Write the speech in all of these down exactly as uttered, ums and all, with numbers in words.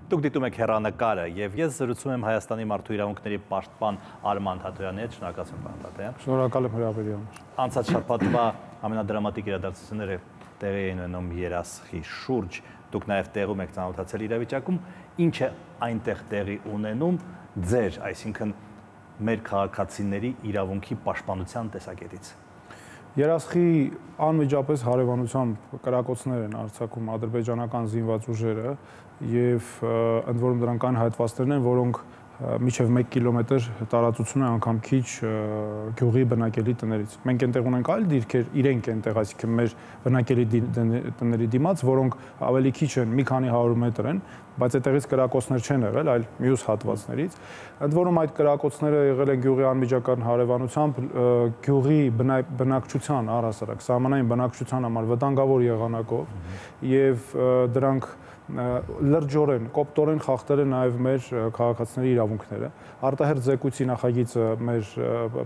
Դուք դիտում եք հեռանկարը եւ ես զրուցում եմ Հայաստանի մարդու իրավունքների պաշտպան Արման Թաթոյանի հետ, շնորհակալություն պարոն Թաթոյան։ Շնորհակալ եմ հրավերի համար։ Անցած շաբաթվա ամենադրամատիկ իրադարձությունները տեղի էին ունենում Երասխի շուրջ, դուք նաեւ տեղում եք ծանոթացել իրավիճակում, ինչ է այնտեղ տեղի ունենում ձեր, այսինքն մեր քաղաքացիների իրավունքի պաշտպանության տեսակետից։ Երասխի անմիջապես հարևանությամբ կրակոցներ են արձակում ադրբեջանական զինված ուժերը եւ ընդ որում դրանք այն հայտվածներն են, որոնք միջև մեկ կիլոմետր տարածություն է անգամ քիչ գյուղի բնակելի տներից։ Մենք այնտեղ ունենք այլ դիրքեր, իրենք այնտեղ, այսինքն մեր բնակելի տների դիմաց, որոնք ավելի քիչ են, մի քանի հարյուր մետր են, բայց այդտեղից կրակոցներ չեն եղել, այլ մյուս հատվածներից։ Ընդ որում այդ կրակոցները եղել են գյուղի անմիջական հարևանությամբ, գյուղի բնակչության առհասարակ սահմանային բնակչության համար վտանգավոր եղանակով եւ դրանք լրջորեն, կոպտորեն խախտել են նաև մեր քաղաքացիների իրավունքները։ Արտահերթ զեկույցի նախագիծը մեր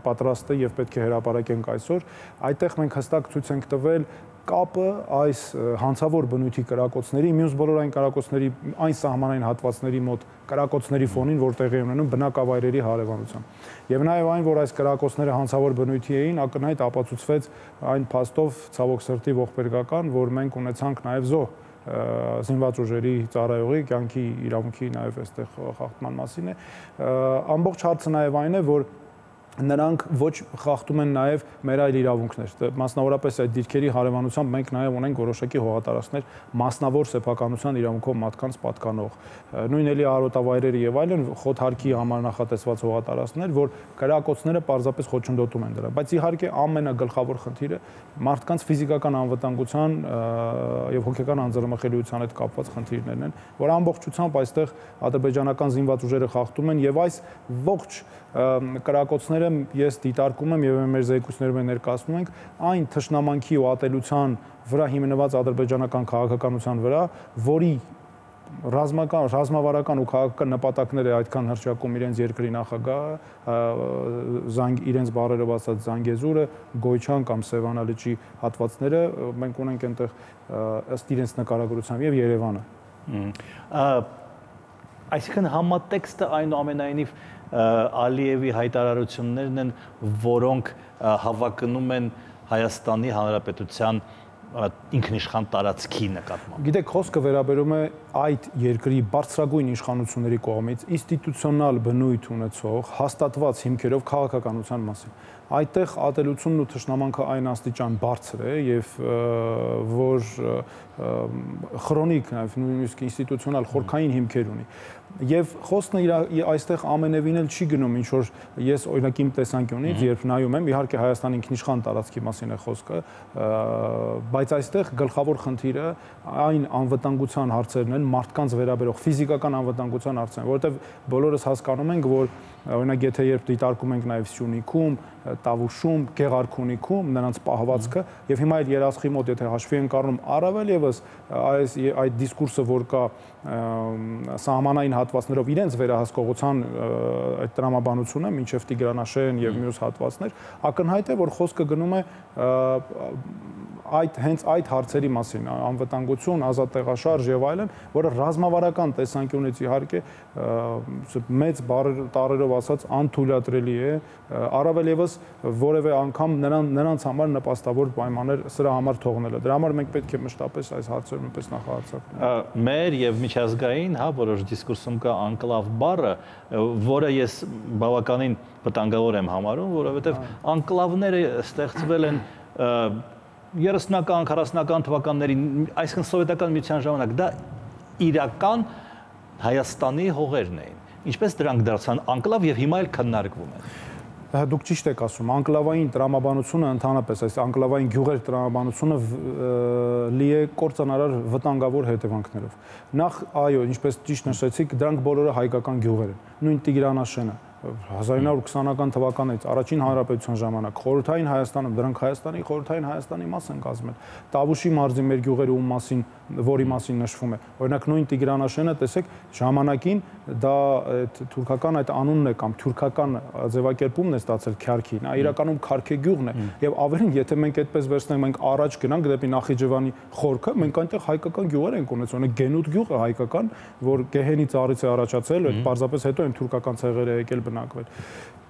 պատրաստ է եւ պետք է հրապարակենք այսօր։ Այդտեղ մենք հստակ ցույց ենք տվել կապը այս հանցավոր բնույթի կրակոցների, մյուս բոլոր այն կրակոցների, այն սահմանային հատվածների մոտ կրակոցների ֆոնին, որ տեղի են ունենում բնակավայրերի հարևանությամբ։ Եվ նաև այն, որ այս կրակոցները հանցավոր բնույթի էին, ակնհայտ ապացուցվեց այն փաստով, ցավոք սրտի ողբերգական, որ մենք ունեցանք նաև զոհ զինված ուժերի ծառայողի կյանքի իրավունքի նաև այստեղ խախտման մասին է։ Ամբողջ հարցը նաև այն է, որ նրանք ոչ խախտում են նաև մեր այլ իրավունքներ։ Մասնավորապես այդ դիրքերի հարևանությամբ մենք նաև ունենք որոշակի հողատարածքներ մասնավոր սեփականության իրավունքով մարդկանց պատկանող։ Նույն էլի արոտավայրերը եւ այլն խոթհարքի համար նախատեսված հողատարածքներ, որ կրակոցները պարզապես խոչընդոտում են դրա։ Բայց իհարկե ամենագլխավոր խնդիրը մարդկանց ֆիզիկական անվտանգության եւ հոգեկան անձեռնմխելիության հետ կապված խնդիրներն են, որ ամբողջությամբ այստեղ ադրբեջանական զինված ուժերը խախտում են եւ այս ողջ կրակոցները ես դիտարկում եմ եւ մեր զեկույցներում ներկայացնում ենք այն թշնամանքի ու ատելության վրա հիմնված ադրբեջանական քաղաքականության վրա, որի ռազմական, ռազմավարական ու քաղաքական նպատակները այդքան հռչակում իրենց երկրի նախագահը, զանգ իրենց բառերով ասած Զանգեզուրը, Գոյչան կամ Սևանալիճի հատվածները, մենք ունենք այնտեղ ըստ իրենց նկարագրությամբ եւ Երևանը։ Այսինքն համատեքստը այնուամենայնիվ Ալիևի հայտարարություններն են, որոնք հավակնում են Հայաստանի Հանրապետության ինքնիշխան տարածքի նկատմամբ։ Գիտեք, խոսքը վերաբերում է այդ երկրի բարձրագույն իշխանությունների կողմից ինստիտուցիոնալ բնույթ ունեցող հաստատված հիմքերով քաղաքականության մասին։ Այդտեղ ատելությունն ու թշնամանքը այն աստիճան բարձր է եւ որ քրոնիկ նաեւ նույնիսկ ինստիտուցիոնալ խորքային հիմքեր ունի։ Եվ խոսքն այստեղ ամենևին էլ չի գնում, ինչ որ ես օրինակ իմ տեսանկյունից, երբ նայում եմ, իհարկե Հայաստանի ինքնիշխան տարածքի մասին է խոսքը, բայց այստեղ գլխավոր խնդիրը այն անվտանգության հարցերն են, մարդկանց վերաբերող ֆիզիկական անվտանգության հարցերն են, որովհետև բոլորս հասկանում ենք, որ օրինակ եթե երբ դիտարկում ենք նաև Սյունիքում, Տավուշում, Գեղարքունիքում նրանց պահվածքը եւ հիմա այդ Երասխի մոտ եթե հաշվի ենք առնում առավել եւս այս այդ դիսկուրսը, որ կա սահմանային հատվածներով իրենց վերահսկողության այդ տրամաբանությունը մինչև Տիգրանաշեն եւ մյուս հատվածներ, ակնհայտ է, որ խոսքը գնում է այդ հենց այդ հարցերի մասին, անվտանգություն, ազատ տեղաշարժ եւ այլն, որը ռազմավարական տեսանկյունից իհարկե մեծ տառերով ասած անթույլատրելի է, առավել եւս որևէ անգամ նրան նրանց համար նպաստավոր պայմաններ սրա համար թողնելը։ Դրա համար մենք պետք է մշտապես այս հարցերում նույնպես նախահարցակենք։ Մեր եւ միջազգային, հա, որոշ դիսկուրսում կա անկլավ բառը, որը ես բավականին վտանգավոր եմ համարում, որովհետեւ անկլավները ստեղծվել են երեսնական, քառասնական թվականների, այսինքն սովետական միության ժամանակ, դա իրական Հայաստանի հողերն էին։ Ինչպես դրանք դարձան անկլավ եւ հիմա էլ քննարկվում են։ Դուք ճիշտ եք ասում, անկլավային տրամաբանությունը ընդհանրապես, այս անկլավային գյուղեր տրամաբանությունը լի է կործանարար վտանգավոր հետևանքներով։ Նախ, այո, ինչպես ճիշտ նշեցիք, դրանք բոլորը հայկական գյուղեր են։ Նույն Տիգրանաշենը, հազար ինը հարյուր քսանական թվականից առաջին հանրապետության ժամանակ խորհրդային Հայաստանում դրանք Հայաստանի խորհրդային Հայաստանի մաս են կազմել։ Տավուշի մարզի մեր գյուղերի ում մասին, որի մասին նշվում է։ Օրինակ նույն Տիգրանաշենը, տեսեք, ժամանակին դա թուրքական այդ անունն է կամ թուրքական ձևակերպումն է ստացել Քյարքի, նա իրականում Քարքե գյուղն է, եւ ավելին, եթե մենք այդպես վերցնենք, մենք առաջ գնանք դեպի Նախիջևանի խորքը, մենք այնտեղ հայկական գյուղեր ենք ունեցել, օրինակ Գենուտ գյուղը հայկական, որ Գեհենի ծառից է առաջացել, այդ պարզապես հետո այն թուրքական ցեղերը եկել բնակվել։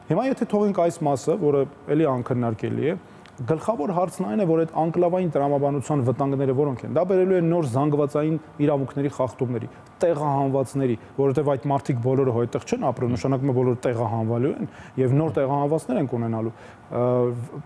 Հիմա եթե թողենք այս մասը, որը էլի անքննարկելի է, գլխավոր հարցն այն է, որ այդ անկլավային տրամաբանության վտանգները որոնք են։ Դա բերելու է նոր զանգվածային իրավունքների խախտումների, տեղահանվածների, որովհետև այդ մարդիկ բոլորը այդտեղ չեն ապրում, նշանակում է բոլորը տեղահանվելու են եւ նոր տեղահանվածներ են ունենալու։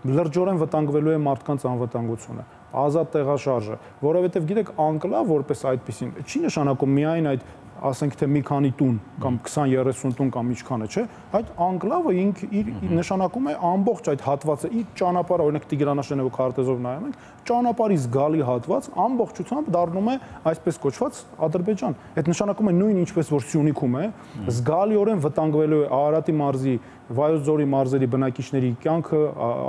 Լրջորեն վտանգվելու է մարդկանց անվտանգությունը, ազատ տեղաշարժը, որովհետև գիտեք, անկլավ որպես այդպեսին չի նշանակում միայն այդ ասենք թե մի քանի տուն կամ քսան երեսուն տուն կամ ինչքանը, չէ, այդ անկլավը ինք իր նշանակում է ամբողջ այդ հատվածը, իր ճանապարհը, օրինակ Տիգրանաշենը ու քարտեզով նայում ենք, ճանապարհի զգալի հատված ամբողջությամբ դառնում է այսպես կոչված Ադրբեջան։ Այդ նշանակում է նույն ինչպես որ Սյունիքում է, զգալիորեն վտանգվելու է Արարատի մարզի, Վայոց ձորի մարզերի բնակիչների կյանքը,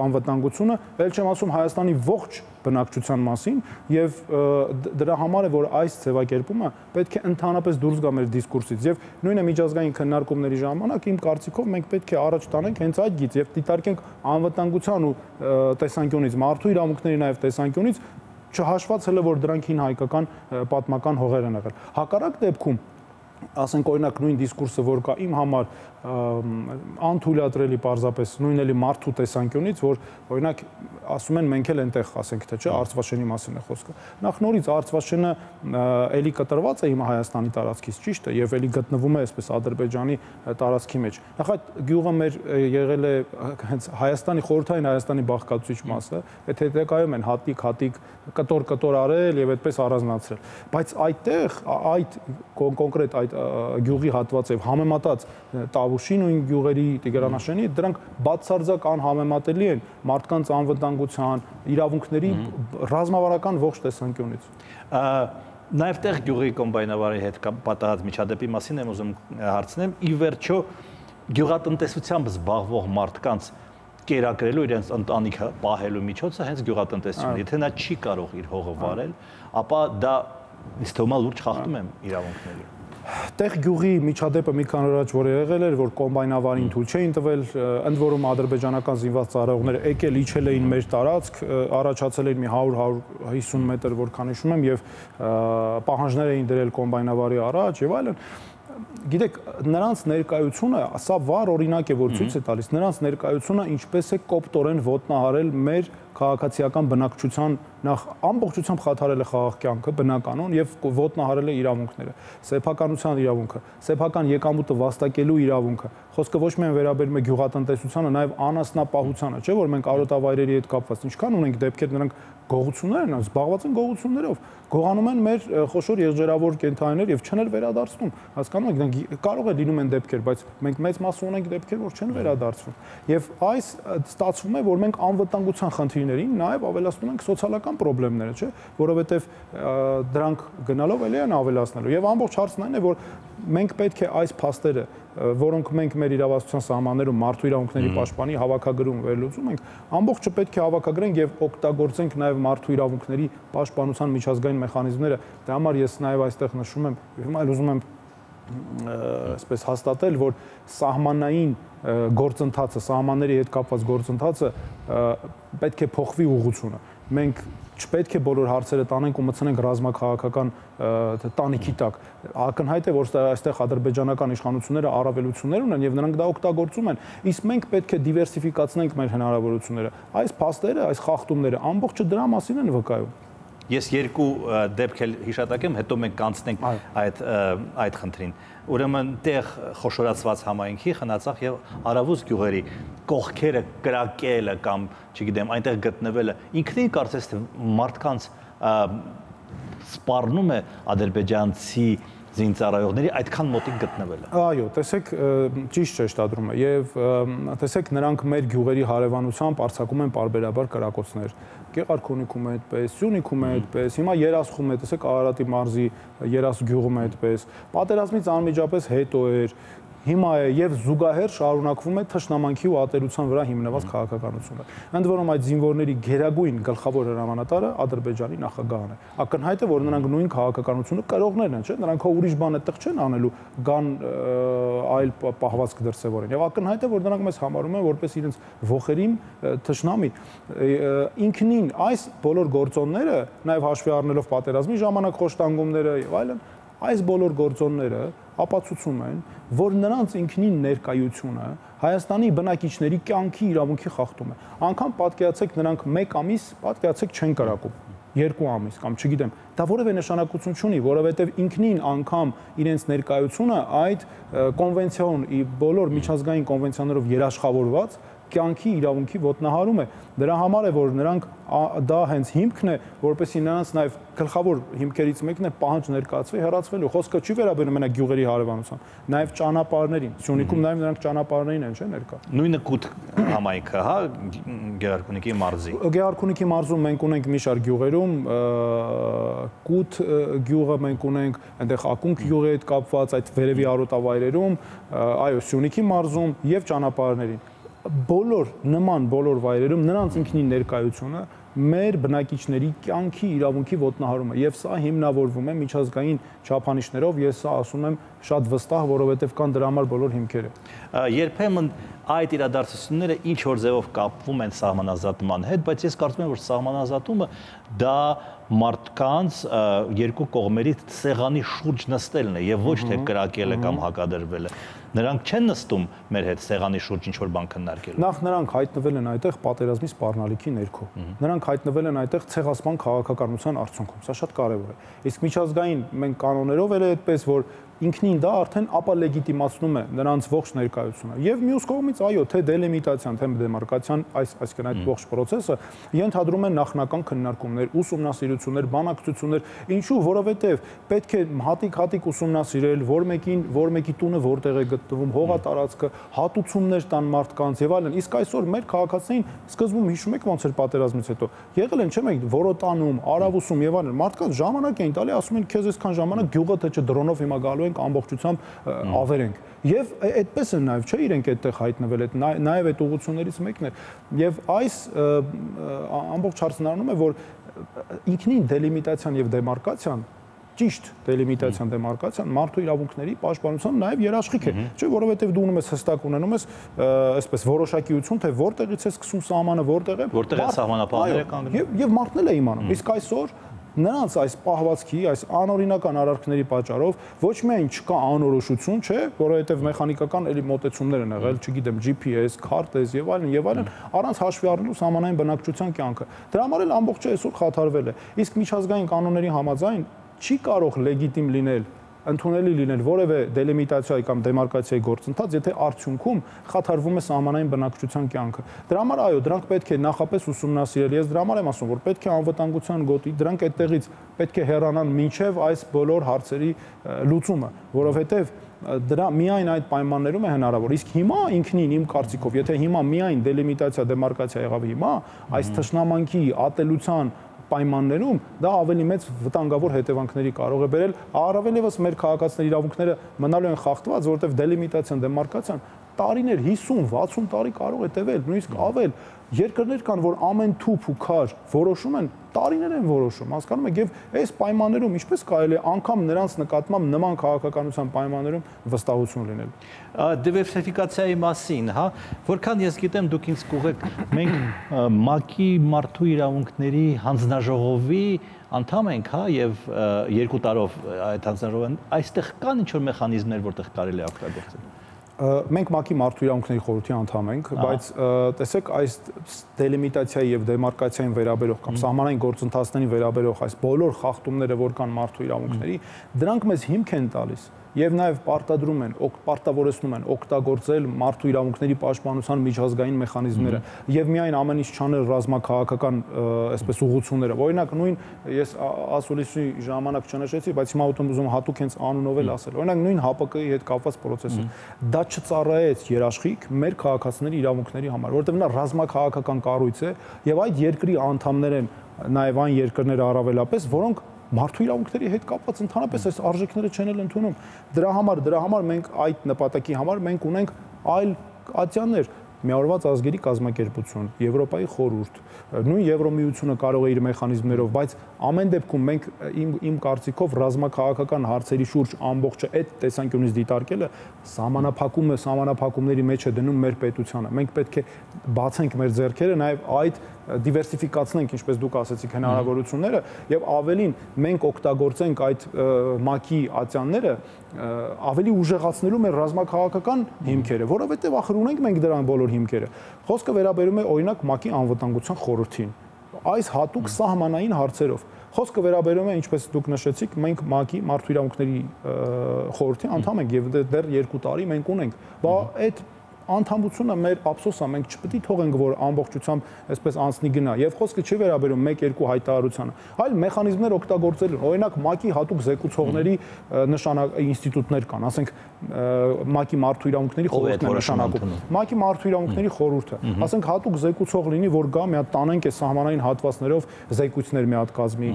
անվտանգությունը, ել չեմ ասում Հայաստանի ողջ բնակչության մասին, եւ դրա համար է որ այս ձևակերպումը պետք է ընդհանրապես դուրս գա մեր դիսկուրսից եւ նույնը միջազգային քննարկումների ժամանակ իմ կարծիքով մենք պետք է առաջ տանենք հենց այդ գիծ եւ դիտարկենք անվտանգության ու տեսանկյունից, մարդու իրավունքների նաեւ տեսանկյունից, չհաշված հələ որ դրանք հին հայկական պատմական հողեր են եղել։ Հակառակ դեպքում ասենք օրինակ նույն դիսկուրսը որ կա իմ համար անթույլատրելի պարզապես նույն էլի մարդու տեսանկյունից, որ օրինակ ասում են մենք էլ այնտեղ ասենք թե չէ Արցվաշենի մասին է խոսքը։ Նախ նորից Արցվաշենը էլի կտրված է հիմա Հայաստանի տարածքից, ճիշտ է, եւ էլի գտնվում է այսպես Ադրբեջանի տարածքի մեջ։ Նախ այդ գյուղը մեր եղել է հենց Հայաստանի խորհրդային Հայաստանի բաղկացուցիչ մասը, այդ հետեկայում են հատիկ հատիկ կտոր-կտոր արել եւ այդպես առանձնացրել։ Բայց այդտեղ այդ կոնկրետ այդ գյուղի հատվածով համեմատած Տավուշի նույն գյուղերի Տիգրանաշենի դրանք բացարձակ անհամեմատելի են մարդկանց անվտանգության, իրավունքների ռազմավարական ողջ տեսանկյունից։ Նաև տեղ գյուղի կոմբայնավարի հետ պատահած միջադեպի մասին եմ ուզում հարցնեմ, ի վերջո գյուղատնտեսությամբ զբաղվող մարդկանց կերակրելու իրենց ընտանիքը պահելու միջոցը հենց գյուղատնտեսությունն է։ Եթե նա չի կարող իր հողը վարել, ապա դա ինձ թվում է լուրջ խախտում է իրավունքների։ Տեղ գյուղի միջադեպը մի քանի օր առաջ որ եղել էր, որ կոմբայնավարին թույլ չէին տվել, ընդ որում ադրբեջանական զինված ծառայողները եկել իջել էին մեր տարածք, առաջացել էին մի հարյուր հարյուր հիսուն մետր, որքան հիշում եմ, եւ պահանջներ էին դրել կոմբայնավարի առաջ եւ այլն։ Գիտեք, նրանց ներկայությունը, սա վառ օրինակ է, որ ցույց է տալիս, նրանց ներկայությունը ինչպես է կոպտորեն ոտնահարել մեր քաղաքացիական բնակչության նախ ամբողջությամբ խաթարել է խաղաղ կյանքը բնականon եւ ոտնահարել է իրավունքները, սեփականության իրավունքը, սեփական եկամուտը վաստակելու իրավունքը։ Խոսքը ոչ միայն վերաբերում է գյուղատնտեսությանը, նաեւ անասնապահությանը, չէ՞ որ մենք արոտավայրերի հետ կապված ինչքան ունենք դեպքեր, նրանք գողություններ են, զբաղված են գողություններով, գողանում են մեր խոշոր եղջերավոր կենդանիներ եւ չեն էլ վերադարձնում։ Հասկանում եք, կարող է լինում են դեպքեր, բայց մենք մեծ մաս ունենք դեպքեր, որ չեն վերադարձվում։ Եվ այս ստացվում է, որ մենք անվտանգության խնդիրներին նաեւ ավելացնում ենք սոցիալական խնդիրները, չէ՞, որովհետեւ դրանք գնալով էլի են ավելացնելու։ Եվ ամբողջ հարցն այն է, որ մենք պետք է այս փաստերը, որոնք մենք մեր իրավասության սահմաններում մարդու իրավունքների պաշտպանի հավաքագրում վերլուծում ենք, ամբողջը պետք է հավաքագրենք եւ օգտագործենք նաեւ մարդու իրավունքների պաշտպանության միջազգային մեխանիզմները։ Դրա համար ես նաեւ այստեղ նշում եմ, հիմա էլ ուզում եմ այսպես հաստատել, որ սահմանային գործընթացը, սահմանների հետ կապված գործընթացը պետք է փոխվի ուղղությունը։ Մենք չպետք է բոլոր հարցերը տանենք ու մտցնենք ռազմաքաղաքական տանիքի տակ։ Ակնհայտ է, որ այստեղ ադրբեջանական իշխանությունները առավելություններ ունեն եւ նրանք դա օգտագործում են։ Իսկ մենք պետք է դիվերսիֆիկացնենք մեր հնարավորությունները։ Այս փաստերը, այս խախտումները ամբողջը դրա մասին են վկայում։ Ես երկու դեպք էլ հիշատակեմ, հետո մենք կանցնենք այդ այդ խնդրին։ Ուրեմն տեղ խոշորացված համայնքի Խնածախ եւ Արավուս գյուղերի կողքերը կրակելը կամ, չգիտեմ, այնտեղ գտնվելը ինքնին կարծես թե մարդկանց սպառնում է ադրբեջանցի զինծառայողների այդքան մոտիկ գտնվելը։ Այո, տեսեք, ճիշտ շեշտադրում է եւ տեսեք նրանք մեր գյուղերի հարևանությամբ արձակում են պարբերաբար կրակոցներ։ Գեղարքունիքում է այդպես, Սյունիքում է այդպես, հիմա Երասխում է, տեսեք Արարատի մարզի Երաս գյուղում է այդպես։ Պատերազմից անմիջապես հետո էր։ հիմա է եւ զուգահեռ շարունակվում է թշնամանքի ու ատելության վրա հիմնված քաղաքականությունը։ Ընդ որում այդ զինվորների գերագույն գլխավոր հրամանատարը Ադրբեջանի նախագահն է։ Ակնհայտ է, որ նրանք նույն քաղաքականությունը կրողներն են, չէ՞, նրանք հո ուրիշ բան այդտեղ չեն անելու, գան այլ պահվածք դրսևորեն։ Եվ ակնհայտ է, որ նրանք մեզ համարում են որպես իրենց ոխերիմ թշնամի։ Ինքնին այս բոլոր գործոնները, նաև հաշվի առնելով պատերազմի ժամանակ խոշտանգումները եւ այլն, այս բոլոր գործոնները ապացուցում են, որ նրանց ինքնին ներկայությունը Հայաստանի բնակիչների կյանքի իրավունքի խախտում է։ Անկամ պատկերացեք նրանք մեկ ամիս, պատկերացեք չեն կրակում, երկու ամիս կամ չգիտեմ, դա որևէ նշանակություն չունի, որովհետև ինքնին անգամ իրենց ներկայությունը այդ կոնվենցիոն բոլոր միջազգային կոնվենցիաներով երաշխավորված կյանքի իրավունքի ոտնահարում է։ Դրա համար է, որ նրանք դա հենց հիմքն է, որպեսզի նրանց նաև գլխավոր հիմքերից մեկն է պահանջ ներկայացվի հեռացվելու։ Խոսքը չի վերաբերում մենակ գյուղերի հարևանության, նաև ճանապարհներին։ Սյունիքում նաև նրանք ճանապարհներին են, չէ՞, ներկա։ Նույնը կուտ համայնքը, հա, Գեղարքունիքի մարզի։ Գեղարքունիքի մարզում մենք ունենք մի շարք գյուղերում, կուտ գյուղը մենք ունենք, այնտեղ ակունք գյուղի հետ կապված այդ վերևի արոտավայրերում, այո, Սյունիքի մարզում եւ ճանապարհներին։ Բոլոր նման բոլոր վայրերում նրանց ինքնին ներկայությունը մեր բնակիչների կյանքի իրավունքի ոտնահարում է եւ սա հիմնավորվում է միջազգային չափանիշներով, ես սա ասում եմ շատ վստահ, որովհետեւ կան դրա համար բոլոր հիմքերը։ Երբեմն այդ իրադարձությունները ինչ որ ձևով կապվում են սահմանազատման հետ, բայց ես կարծում եմ, որ սահմանազատումը դա մարդկանց երկու կողմերի սեղանի շուրջ նստելն է եւ ոչ թե կրակելը կամ հակադրվելը։ Նրանք չեն նստում մեր հետ սեղանի շուրջ ինչ որ բան քննարկելու։ Նախ նրանք հայտնվել են այդտեղ պատերազմի սպառնալիքի ներքո։ Նրանք հայտնվել են այդտեղ ցեղասպան քաղաքականության արդյունքում։ Սա շատ կարևոր է։ Իսկ միջազգային մենք կանոններով էլ է այդպես, որ ինքնին դա արդեն ապա լեգիտիմացնում է նրանց ողջ ներկայությունը։ Եվ մյուս կողմից, այո, թե դելիմիտացիան, թե դեմարկացիան, այս այսինքն այդ ողջ process-ը ենթադրում է նախնական քննարկումներ, ուսումնասիրություններ, բանակցություններ, ինչու, որովհետև պետք է հատիկ-հատիկ ուսումնասիրել, որ մեկին, որ մեկի տունը որտեղ է գտնվում, հողատարածքը, հատուցումներ տան մարդկանց եւ այլն։ Իսկ այսօր մեր քաղաքացիներին սկզբում հիշում եք ոնց էր պատերազմից հետո։ Եղել են, չէ՞ մեկ որոտանում, արավուսում եւ այլն։ Մարդկանց ժամանակ էին տալի, ասում են քեզ այսքան ժամանակ գյուղը թե չէ դրոնով հիմա գալու ենք ամբողջությամբ ավերենք։ Եվ այդպես են նաև, չէ, իրենք այդտեղ հայտնվել են, նաև այդ ուղղություններից մեկն է։ Եվ այս ամբողջ հարցն առնում է, որ ինքնին դելիմիտացիան եւ դեմարկացիան, ճիշտ դելիմիտացիան, դեմարկացիան մարդու իրավունքների պաշտպանության նաև երաշխիք է, չէ, որովհետև դու ունես հստակ ունենում ես այսպես որոշակիություն, թե որտեղից է սկսում սահմանը, որտեղ է, որտեղ է սահմանապահները կանգնում։ Եվ մարդն էլ է իմանում։ Իսկ այսօր նրանց այս պահվածքի, այս անօրինական արարքների պատճառով ոչ միայն չկա անորոշություն, չէ, որովհետև մեխանիկական էլի մոտեցումներ են եղել, չգիտեմ, G P S, քարտեզ եւ այլն եւ այլն, առանց հաշվի առնելու սահմանային բնակչության կյանքը։ Դրա համար էլ ամբողջը այսօր խաթարվել է։ Իսկ միջազգային կանոնների համաձայն չի կարող լեգիտիմ լինել, ընդունելի լինել որևէ դելիմիտացիայի կամ դեմարկացիայի գործընթաց, եթե արդյունքում խաթարվում է սահմանային բնակչության կյանքը։ Դրա համար այո, դրանք պետք է նախապես ուսումնասիրել։ Ես դրա համար եմ ասում, որ պետք է անվտանգության գոտի, դրանք այդտեղից պետք է հեռանան մինչև այս բոլոր հարցերի լուծումը, որովհետև դրա միայն այդ պայմաններում է հնարավոր։ Իսկ հիմա ինքնին իմ կարծիքով, եթե հիմա միայն դելիմիտացիա, դեմարկացիա եղավ հիմա, այս թշնամանքի ատելության պայմաններում դա ավելի մեծ վտանգավոր հետևանքների կարող է բերել, առավել եւս մեր քաղաքացիների իրավունքները մնալու են խախտված, որովհետեւ դելիմիտացիան, դեմարկացիան տարիներ հիսուն վաթսուն տարի կարող է տևել, նույնիսկ ավել։ Երկրներ կան, որ ամեն թուփ ու քար որոշում են, տարիներ են որոշում, հասկանում եք, եւ այս պայմաններում ինչպես կարելի է անգամ նրանց նկատմամբ նման քաղաքականության պայմաններում վստահություն լինել։ Դիվերսիֆիկացիայի մասին, հա, որքան ես գիտեմ, դուք ինձ կուղեք, մենք ՄԱԿ-ի մարդու իրավունքների հանձնաժողովի անդամ ենք, հա, եւ երկու տարով այդ հանձնաժողովն այստեղ կան ինչ-որ մեխանիզմներ, որտեղ կարելի է օգտագործել։ Մենք ՄԱԿ-ի մարդու իրավունքների խորհրդի անդամ ենք, բայց տեսեք այս դելիմիտացիայի եւ դեմարկացիային վերաբերող կամ սահմանային գործընթացներին վերաբերող այս բոլոր խախտումները, որ կան մարդու իրավունքների, դրանք մեզ հիմք են տալիս եւ նաեւ պարտադրում են, պարտավորեցնում են օգտագործել մարդու իրավունքների պաշտպանության միջազգային մեխանիզմները եւ միայն ամեն ինչ չանել ռազմաքաղաքական այսպես ուղղությունները։ Օրինակ նույն ես ասուլիսի ժամանակ չնշեցի, բայց հիմա ուտում հատուկ հենց անունով էլ ասել։ Օրինակ նույն H P K-ի հետ կապված process-ը դա չծառայեց երաշխիք մեր քաղաքացիների իրավունքների համար, որովհետեւ նա ռազմաքաղաքական կառույց է եւ այդ երկրի անդամներ են նաեւ այն երկրները առավելապես, որոնք մարդու իրավունքների հետ կապված ընդհանրապես այս արժեքները չեն էլ ընդունում։ Դրա համար, դրա համար մենք այդ նպատակի համար մենք ունենք այլ ատյաններ, Միավորված ազգերի կազմակերպություն, Եվրոպայի խորհուրդ, նույն Եվրոմիությունը կարող է իր մեխանիզմներով, բայց ամեն դեպքում մենք իմ իմ կարծիքով ռազմաքաղաքական հարցերի շուրջ ամբողջը այդ տեսանկյունից դիտարկելը սահմանափակում է, սահմանափակումների մեջ է դնում մեր պետությանը։ Մենք պետք է բացենք մեր ձեռքերը նաև այդ դիվերսիֆիկացնենք, ինչպես դուք ասացիք, հնարավորությունները եւ ավելին մենք օգտագործենք այդ ՄԱԿ-ի ատյանները ավելի ուժեղացնելու մեր ռազմաքաղաքական հիմքերը, որովհետեւ ախր ունենք մենք դրան բոլոր հիմքերը։ Խոսքը վերաբերում է օրինակ ՄԱԿ-ի անվտանգության խորհրդին։ Այս հատուկ սահմանային հարցերով խոսքը վերաբերում է, ինչպես դուք նշեցիք, մենք ՄԱԿ-ի մարդու իրավունքների խորհրդի անդամ ենք եւ դեռ երկու տարի մենք ունենք։ Բա այդ անդամությունը մեր ափսոսա, մենք չպետք է թողենք, որ ամբողջությամբ այսպես անցնի գնա, եւ խոսքը չի վերաբերում մեկ-երկու հայտարարությանը, այլ մեխանիզմներ օգտագործելու, օրինակ ՄԱԿ-ի հատուկ զեկուցողների նշանակ ինստիտուտներ կան, ասենք ՄԱԿ-ի մարդու իրավունքների խորհուրդն է նշանակում, ՄԱԿ-ի մարդու իրավունքների խորհուրդը, ասենք հատուկ զեկուցող լինի, որ գա մի հատ տանենք այս սահմանային հատվածներով զեկույցներ մի հատ կազմի,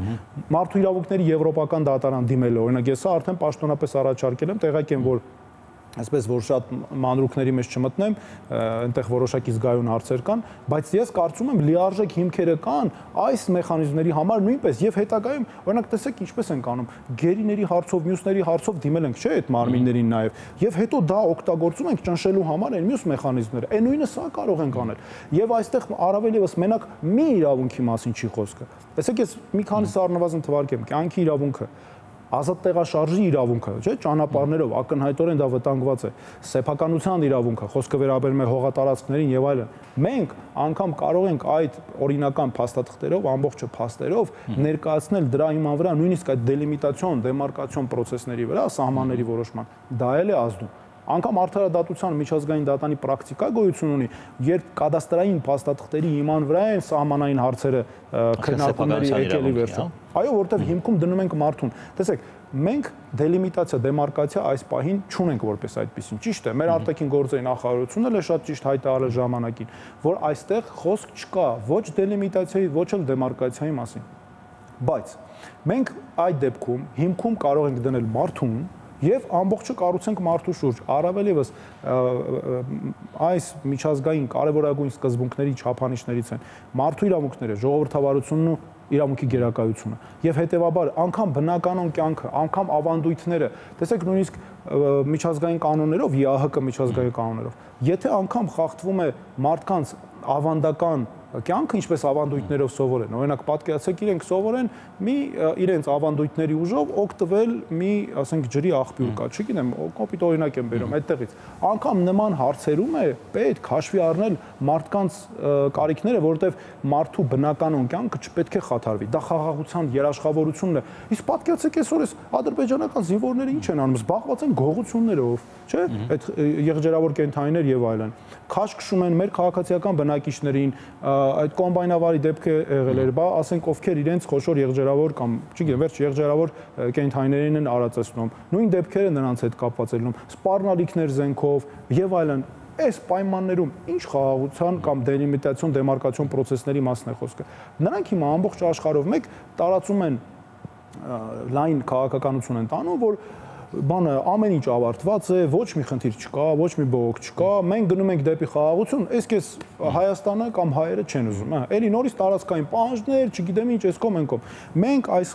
մարդու իրավունքների եվրոպական դատարան դիմել, օրինակ ես արդեն պաշտոնապես առաջարկել եմ, տեղյակ եմ, որ այսպես որ շատ մանրուքների մեջ չմտնեմ, այնտեղ որոշակի զգայուն հարցեր կան, բայց ես կարծում եմ լիարժեք հիմքերը կան այս մեխանիզմների համար նույնպես եւ հետագայում, օրինակ տեսեք ինչպես են կանում, գերիների հարցով, մյուսների հարցով դիմել ենք, չէ՞, այդ մարմիններին նաեւ, եւ հետո դա օգտագործում ենք ճնշելու համար այն մյուս մեխանիզմները, այն նույնը սա կարող ենք անել։ Եվ այստեղ առավել եւս մենակ մի իրավունքի մասին չի խոսքը։ Տեսեք, ես մի քանիսը առնվազն թվարկեմ, կյանքի իրավունքը, ազատ տեղաշարժի իրավունքը, չէ՞, ճանապարհներով ակնհայտորեն դա վտանգված է, սեփականության իրավունքը, խոսքը վերաբերում է հողատարածքներին եւ այլն։ Մենք անգամ կարող ենք այդ օրինական փաստաթղթերով, ամբողջը փաստերով ներկայացնել դրա հիման վրա նույնիսկ այդ դելիմիտացիոն, դեմարկացիոն process-ների վրա, սահմանների որոշման, դա էլ է ազդում։ Անկամ արդարադատության միջազգային դատանի պրակտիկա գոյություն ունի, երբ կադաստրային փաստաթղթերի հիման վրա են սահմանային հարցերը քննարկումների եկելի վերջում։ Այո, որտեղ հիմքում դնում ենք մարդուն։ Տեսեք, մենք դելիմիտացիա, դեմարկացիա այս պահին չունենք որպես այդպեսին։ Ճիշտ է, մեր արտաքին գործերի նախարարությունը էլ է շատ ճիշտ հայտարարել ժամանակին, որ այստեղ խոսք չկա ոչ դելիմիտացիայի, ոչ էլ դեմարկացիայի մասին։ Բայց մենք այդ դեպքում հիմքում կարող ենք դնել մարդուն եւ ամբողջը կառուցենք մարդու շուրջ, առավել եւս այս միջազգային կարևորագույն սկզբունքների չափանիշներից են մարդու իրավունքները, ժողովրդավարությունն ու իրավունքի գերակայությունը եւ հետեւաբար անգամ բնականon կյանքը, անգամ ավանդույթները, տեսեք նույնիսկ միջազգային կանոններով, ԵԱՀԿ միջազգային կանոններով, եթե անգամ խախտվում է մարդկանց ավանդական կյանքը, ինչպես ավանդույթներով սովորեն, օրինակ պատկերացրեք իրենք սովորեն մի իրենց ավանդույթների ուժով օգտվել մի, ասենք, ջրի աղբյուր կա, չգիտեմ, կոպիտ օրինակ եմ բերում այդտեղից։ Անկամ նման հարցերում է պետք հաշվի առնել մարդկանց կարիքները, որովհետև մարդու բնականon կյանքը չպետք է խաթարվի։ Դա խաղաղության երաշխավորությունն է։ Իսկ պատկերացրեք այսօր այս ադրբեջանական զինվորները ինչ են անում, զբաղված են գողություններով, չէ՞, այդ եղջերավոր կենդանիներ եւ այլն։ Քաշ քշում են մեր քաղաքացիական բնակիչներին, այդ կոմբայնավարի դեպքը եղել էր, բա ասենք ովքեր իրենց խոշոր եղջերավոր կամ չգիտեմ, վերջ եղջերավոր կենդանիներին են արածեցնում։ Նույն դեպքերը նրանց հետ կապված են լինում, սպառնալիքներ զենքով եւ այլն։ Այս պայմաններում ինչ խաղաղության կամ դելիմիտացիոն, դեմարկացիոն process-ների մասն է խոսքը։ Նրանք հիմա ամբողջ աշխարհով մեկ տարածում են լայն քաղաքականություն են տանում, որ բանը ամեն ինչ ավարտված է, ոչ մի խնդիր չկա, ոչ մի բողոք չկա, մենք գնում ենք դեպի խաղաղություն, այս կես Հայաստանը կամ հայերը չեն ուզում, հա, էլի նորից տարածքային պահանջներ, չգիտեմ ինչ, այս կողմ են կողմ։ Մենք այս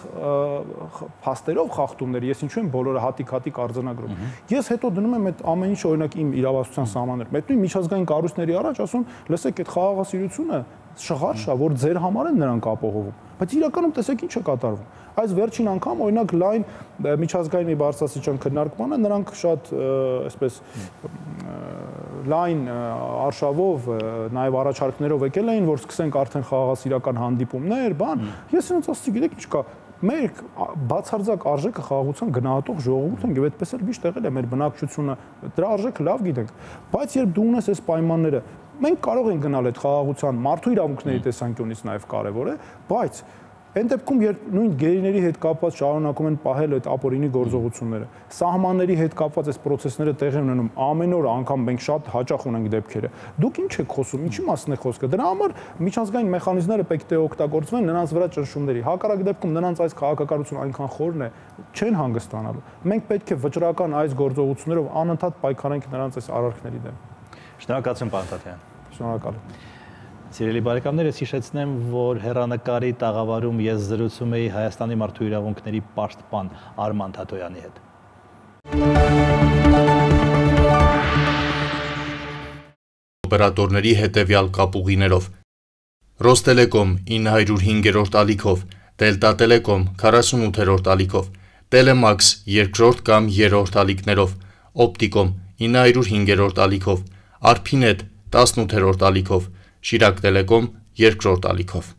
փաստերով խախտումներ, ես ինչու եմ բոլորը հատիկ-հատիկ արձանագրում։ Ես հետո դնում եմ այդ ամեն ինչ օրինակ իմ իրավասության սահմաններ։ Մեկ նույն միջազգային կառույցների առաջ ասում, լսեք, այդ խաղաղասիրությունը շղարշ է, որ ձեր համար են նրանք ապահովում։ Բայց իրականում տեսեք ինչ է կատարվում։ Այս վերջին անգամ օրինակ լայն միջազգային մի բարձրաստիճան քննարկմանը նրանք շատ այսպես լայն արշավով նաև առաջարկներով եկել էին, որ սկսենք արդեն խաղաղասիրական հանդիպումներ, բան։ Ես ինձ ասացի, գիտեք ինչ կա, մեր բացարձակ արժեքը խաղաղության գնահատող ժողովուրդ ենք եւ այդպես էլ միշտ եղել է մեր բնակչությունը, դրա արժեքը լավ գիտենք։ Բայց երբ դու ունես այս պայմանները, մենք կարող ենք գնալ այդ խաղաղության մարդու իրավունքների տեսանկյունից նաև կարևոր է, բայց Այն դեպքում, երբ նույն գերիների հետ կապված շարունակում են պահել այդ ապօրինի գործողությունները, սահմանների հետ կապված այս process-ները տեղի ունենում, ամեն օր անգամ մենք շատ հաճախ ունենք դեպքերը։ Դուք ինչ եք խոսում, ինչի մասն է խոսքը։ Դրա համար միջազգային մեխանիզմները պետք է օգտագործվեն նրանց վրա ճնշումների։ Հակառակ դեպքում նրանց այս քաղաքականությունը այնքան խորն է, չեն հանգստանալու։ Մենք պետք է վճռական այս գործողություններով անընդհատ պայքարենք նրանց այս արարքների դեմ։ Շնորհակալություն, պարոն Թաթյան։ Շնորհակալ։ Սիրելի բարեկամներ, ես հիշեցնեմ, որ հեռանկարի տաղավարում ես զրուցում էի Հայաստանի մարդու իրավունքների պաշտպան Արման Թաթոյանի հետ։ Օպերատորների հետևյալ կապուղիներով Ռոստելեկոմ ինը հարյուր հինգերորդ ալիքով, Դելտա Տելեկոմ քառասունութերորդ ալիքով, Տելեմաքս երկրորդ կամ երրորդ ալիքներով, Օպտիկոմ ինը հարյուր հինգերորդ ալիքով, Արփինետ տասնութերորդ ալիքով, Շիրակ Տելեկոմ երկրորդ ալիքով։